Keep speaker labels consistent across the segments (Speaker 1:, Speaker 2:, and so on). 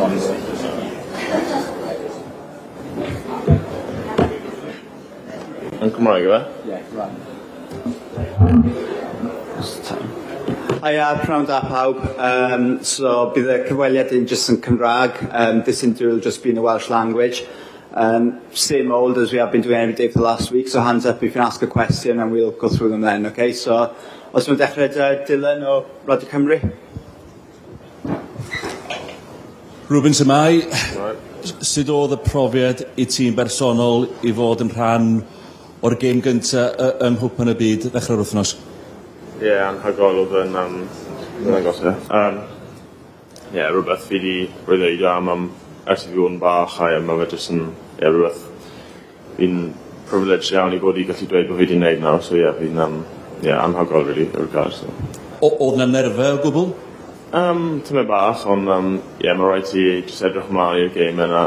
Speaker 1: honestly.
Speaker 2: Yn Cymraeg, yw e?
Speaker 1: Yeah, Cymraeg.
Speaker 3: Hiya, pnawn da pawb. So bydd y cyfweliad yn just yn Cymraeg. This interview will just be in the Welsh language. Same old as we have been doing every day for the last week, so hands up if you can ask a question and we'll go through them then, okay? So, os mae'n dechrau 'da Dylan o Radio Cymru.
Speaker 4: Reuben shwmae? Sut oedd y profiad i ti'n bersonol i fod yn rhan o'r gêm gynta yng Nghwpan y Byd ddechrau'r wythnos?
Speaker 2: Ie, yeah, anhygoel oedd yn ymddangos e. Ie, rhywbeth fi 'di breuddwydio am ers i fi fod yn bach a ie, ma' fe jyst yn ie, rhywbeth fi'n privileged iawn i fod i gallu dweud bod fi 'di wneud nawr, so ie, fi'n ie, anhygoel really yw'r gair, so.
Speaker 4: Oedd 'na nerfau o gwbl?
Speaker 2: Tymed bach, ond ie, ma' raid ti jyst edrych ymlaen i'r gêm yna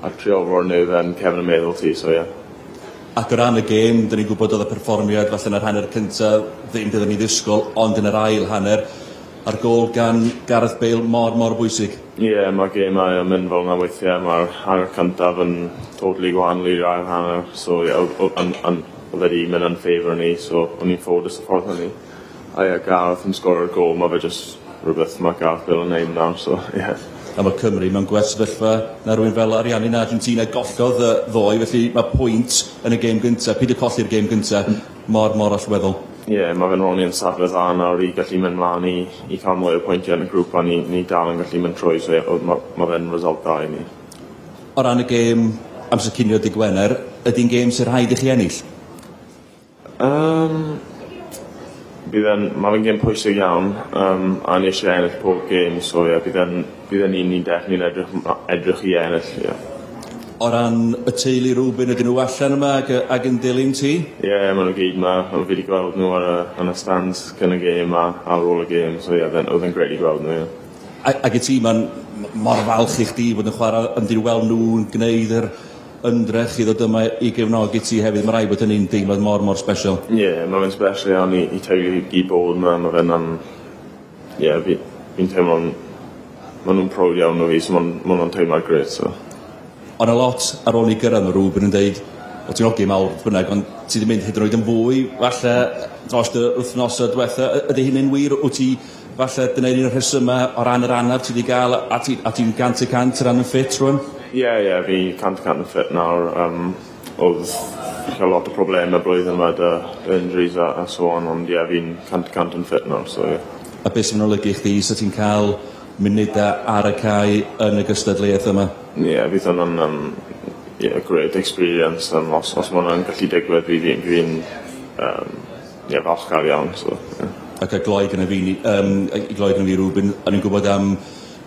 Speaker 2: a trio roi'r nerfau yn cefn y meddwl ti, so ie.
Speaker 4: Ac o ran y gêm, dyn ni'n gwybod oedd y perfformiad falle yn yr hanner cynta ddim beth o'n i ddisgwyl, ond yn yr ail hanner, a'r gôl gan Gareth Bale mor, mor bwysig.
Speaker 2: Ie, yeah, mae'r gemau yn mynd fel yna weithiau, mae'r hanner cyntaf yn totally gwahanol i'r ail hanner, so ie, oedd wedi mynd yn favour ni, so o'n i'n ffodus y ffordd hynny. A ie, Gareth yn sgorio'r gôl, mae fe jyst rhywbeth mae Gareth Bale yn neud nawr, so ie. Yeah.
Speaker 4: A mae Cymru mewn gwell sefyllfa na rhywun fel Ariannin Argentina gollodd ddoe, felly mae pwynt yn y gêm gyntaf, peidio colli'r gêm gyntaf, mor, mor allweddol.
Speaker 2: Ie, yeah, mae fe'n roni yn safle dda nawr i gallu mynd mlaen i cael mwy o pwyntiau yn y grŵp a ni dal yn gallu mynd trwy, so ie, ma fe'n result dda i ni.
Speaker 4: O ran y gêm amser cinio dydd Gwener, ydy'n gêm sy'n rhaid i chi ennill?
Speaker 2: Bydd e'n, ma' fe'n gêm pwysig iawn, a ni eisiau ennill pob gêm, so ie, bydd e'n un ni'n definitely edrych i ennill, ie.
Speaker 4: O ran y teulu Reuben, ydyn nhw allan yma ac yn dilyn ti?
Speaker 2: Ie, yeah, maen nhw gyd yma. Fi wedi gweld nhw ar yn y stands cyn y gêm a ar ôl y gêm, so ie, oedd e'n grêt i gweld nhw, ie.
Speaker 4: Ac i ti, mae'n mor falch i chdi bod yn chwarae, ond i'n weld nhw'n gwneud yr ymdrech i ddod yma i gefnogi ti hefyd. Mae rhaid bod hynny'n deimlad mor, mor special.
Speaker 2: Ie, yeah, mae fe'n special iawn i teulu i bod yma. Mae fe'n, ie, fi'n teimlo'n, maen nhw'n proud iawn o fi, so maen nhw'n teimlad grêt, so.
Speaker 4: Ond a lot ar ôl ni gyrraedd mae Reuben yn deud, o ti'n ogyn mawr bynnag, ond ti wedi mynd hyd yn oed yn fwy, falle, dros y wythnosau diwetha. Ydy hynny'n wir? Wyt ti, falle, dyna un o'r rhesymau o ran yr anaf ti wedi gael, a ti'n 100% ran yn ffit rwan?
Speaker 2: Ie, ie, fi 100% yn ffit nawr. Oedd cael lot o problemau blwyddyn yma 'da injuries a so on, ond ie, fi'n 100% yn ffit nawr, so ie.
Speaker 4: A beth sy'n olygu i chdi, so ti'n cael munudau ar y cae yn y gystadleuaeth yma?
Speaker 2: Ie, yeah, fydd hwnna'n yeah, great experience. Os mae hwnna'n gallu digwydd, fi'n yeah, falchgar iawn. So, yeah.
Speaker 4: Ac a gloi gyda fi, i gloi gyda fi Reuben, o'n i'n gwybod am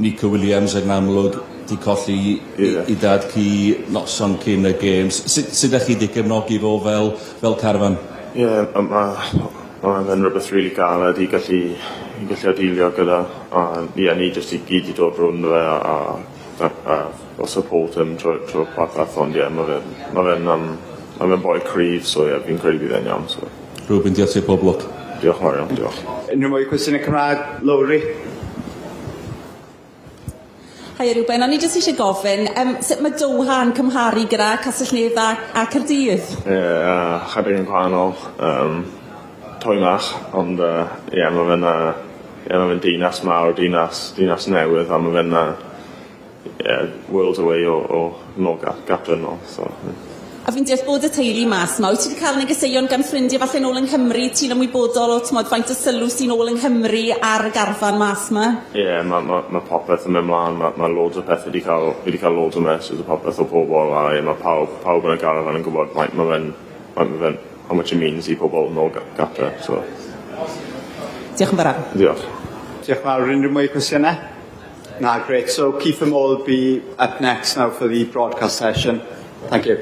Speaker 4: Nico Williams ac yn amlwg di colli i dad ci noson cyn y games. Sut ydych chi wedi gefnogi fo fel carfan?
Speaker 2: Ie, yeah, mae fe'n rhywbeth really galed i gallu dealio gyda. Ie, ni jyst i gyd i dod rownd fe a support him trwy popeth, ond ie, ma fe'n boi cryf, so ie, fi'n credu bydd e'n iawn. So.
Speaker 4: Reuben, diolch ti, pob lwc.
Speaker 2: Diolch yn fawr iawn, diolch.
Speaker 3: Unrhyw mwy cwestiynau Cymraeg? Lowri?
Speaker 5: Hi Reuben, o'n i jyst eisiau gofyn, sut mae Doha yn cymharu gyda Castell-nedd a Caerdydd?
Speaker 2: Ie, yeah, chydig yn gwahanol. Twymach, ond ie, mae fe'n yeah, ma dinas mawr, dinas newydd, a mae fe'n yeah, worlds away o nôl gartre nôl. So, yeah.
Speaker 5: A fi'n deall bod y teulu mas yma. Wyt ti wedi cael negeseuon gan ffrindiau falle nôl yng Nghymru? Ti'n ymwybodol o t'mod, faint o sylw sy'n ôl yng Nghymru ar y garfan mas yma?
Speaker 2: Ie, yeah, ma popeth yn mynd mlaen. Ma loads o pethau wedi cael, fi wedi cael loads o messages o popeth o pobl, a yeah, mae pawb yn y garfan yn gwybod faint ma fe'n, how much it means i pobl nôl gartre. So.
Speaker 5: Diolch yn fawr.
Speaker 2: Diolch.
Speaker 3: Diolch yn fawr. Unrhyw mwy cwestiynau? Na, great. So Keith Moore will be up next now for the broadcast session. Thank you.